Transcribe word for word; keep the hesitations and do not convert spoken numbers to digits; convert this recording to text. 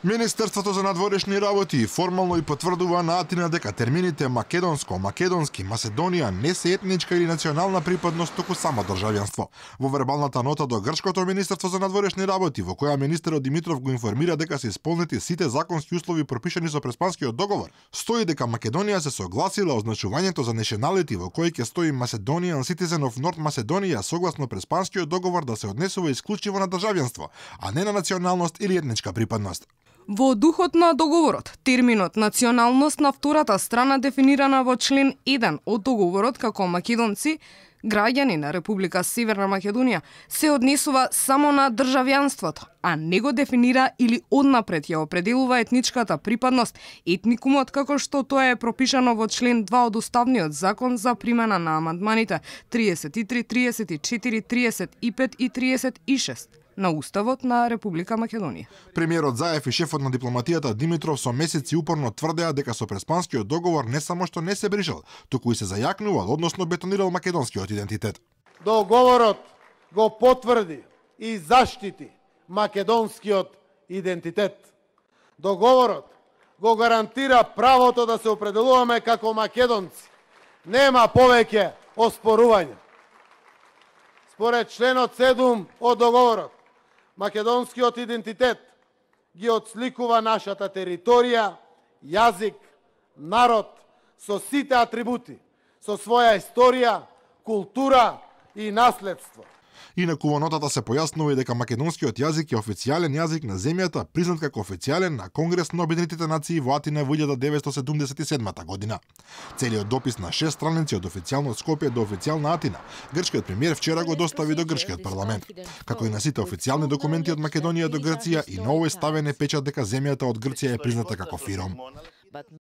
Министерството за надворешни работи формално и потврдува на Атина дека термините македонско, македонски, Македонија не се етничка или национална припадност, туку само државјанство. Во вербалната нота до грчкото Министерство за надворешни работи, во која министерот Димитров го информира дека се исполнети сите законски услови пропишани со Преспанскиот договор, стои дека Македонија се согласила означувањето за nationality во кој ќе стои Macedonian Citizen of North Macedonia согласно Преспанскиот договор да се однесува исклучиво на државјанство, а не на националност или етничка припадност. Во духот на договорот, терминот националност на втората страна дефинирана во член еден од договорот како македонци, граѓани на Република Северна Македонија, се однесува само на државјанството, а не го дефинира или однапред ја определува етничката припадност, етникумот како што тоа е пропишано во член два од Уставниот закон за примена на амандманите триесет и три, триесет и четири, триесет и пет и триесет и шест. На Уставот на Република Македонија. Премиерот Заев и шефот на дипломатијата Димитров со месеци упорно тврдеа дека со Преспанскиот договор не само што не се брижал, туку и се зајакнувал, односно бетонирал македонскиот идентитет. Договорот го потврди и заштити македонскиот идентитет. Договорот го гарантира правото да се определуваме како македонци. Нема повеќе оспорување. Според членот седум од договорот, македонскиот идентитет ги отсликува нашата територија, јазик, народ со сите атрибути, со своја историја, култура и наследство. Инаку во нотата се појаснува и дека македонскиот јазик е официјален јазик на земјата, признат како официјален на Конгрес на Обединетите нации во Атина во илјада деветстотини седумдесет и седмата година. Целиот допис на шест страници од официјално Скопје до официјална Атина, грчкиот премиер вчера го достави до грчкиот парламент. Како и на сите официјални документи од Македонија до Грција, и на овој ставен е печат дека земјата од Грција е призната како фиром.